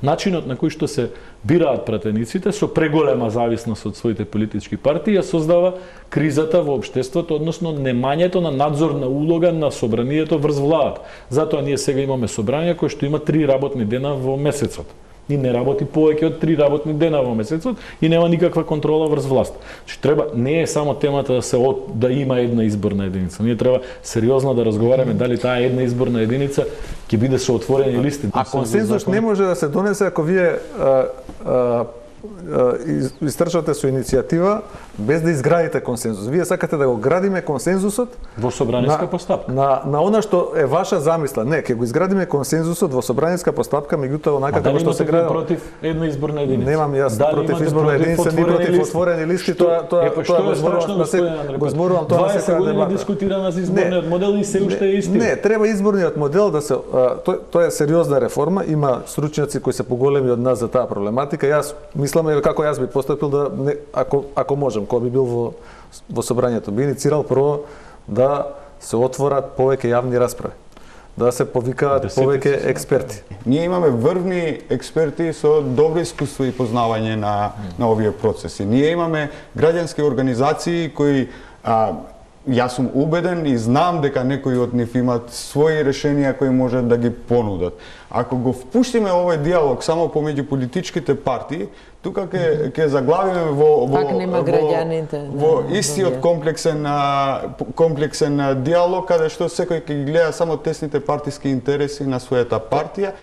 Начинот на кој што се бираат пратениците со преголема зависност од своите политички партии ја создава кризата во општеството, односно немањето на надзорна улога на собранието врз владата. Затоа ние сега имаме собрание кое што има 3 работни дена во месецот. И не работи повеќе од 3 работни дена во месецот и нема никаква контрола врз власт. Треба не е само темата да има една изборна единица. Ние треба сериозно да разговараме дали таа една изборна единица ќе биде со отворени листи. А консензус не може да се донесе ако вие истрчате со иницијатива без да изградите консензус. Вие сакате да го градиме консензусот во собраниска постапка. На она што е ваша замисла. Не, ќе го изградиме консензусот во собраниска постапка, меѓутоа онака како што се гради против една изборна единица. Немам јас против изборна единица, ни против отворени листи, тоа го зборувам тоа на секоја дебата. 20 години дискутирана за изборниот модел и се уште е исти. Не, треба изборниот модел да се тоа е сериозна реформа, има стручњаци кои се поголеми од нас за таа проблематика. Јас мислам како јас би постапил да ако можам, кога би бил во собранието, би иницирал прво да се отворат повеќе јавни расправи, да се повикаат повеќе експерти. Ние имаме врвни експерти со добро искуство и познавање на овие процеси. Ние имаме граѓански организации кои јас сум убеден и знам дека некои од нив имат своји решенија кои можат да ги понудат. Ако го впуштиме овој диалог само помеѓу политичките партии, тука ќе заглавиме во истиот комплексен диалог каде што секој ќе гледа само тесните партиски интереси на својата партија.